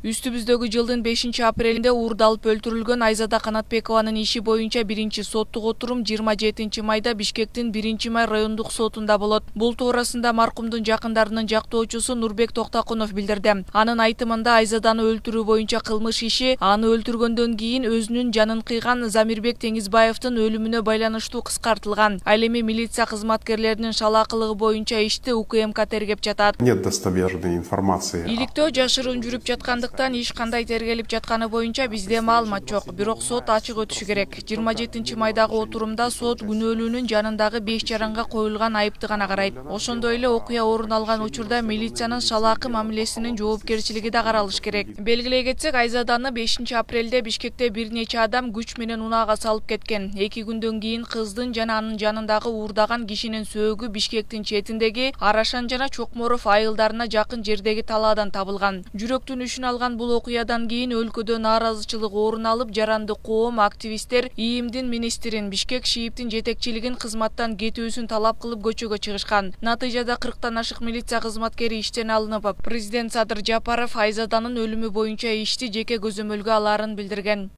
Үстүбүздөгү жылдын 5-апрелинде уурдалып өлтүрүлгөн Айзада Канатбекованын иши боюнча биринчи соттук отурум 27-майда Бишкектин 1-май райондук сотунда болот. Бул туурасында маркумдун жакындарынын жактоочусу Нурбек Токтокунов билдирди. Анын айтымында Айзаданы өлтүрүү боюнча кылмыш иши аны өлтүргөндөн кийин өзүнүн жанын кыйган Замирбек Теңизбаевдин өлүмүнө байланыштуу кыскартылган. Ал эми милиция кызматкерлеринин шалаакылыгы боюнча ишти УКМК тергеп жатат. Нет достоверной информации. Иликтөө жашыруун жүрүп жаткандыктан иш кандай тергелип жатканы боюнча бизде маалымат жок. Бирок сот ачык өтүшү керек. 27-майдагы отурумда сот күнөөлүүнүн жанындагы 5 жаранга коюлган айыпты гана карайт. Ошондой эле окуя орун алган учурда милициянын шалаакы мамилесинин жоопкерчилиги да каралыш керек. Белгилей кетсек, Айзаданы 5-апрелде Бишкекте бир нече адам күч менен унаага салып кеткен. 2 күндөн кийин кыздын жана анын жанындагы уурдаган кишинин сөөгү Бишкектин четиндеги Арашан жана Чокморов айылдарына жакын жердеги талаадан табылган. Жүрөктүн үшүн алган бул окуядан кийин өлкөдө нааразычылык орун алып, жаранды коом, активисттер ИИМдин министрин, Бишкек ШИИБдин жетекчилигин кызматтан кетүүсүн талап кылып көчөгө чыгышкан. Натыйжада 40тан ашык милиция кызматкери иштен алынып, президент Садыр Жапаров Айзаданын өлүмү боюнча ишти жеке көзөмөлгө алаарын билдирген.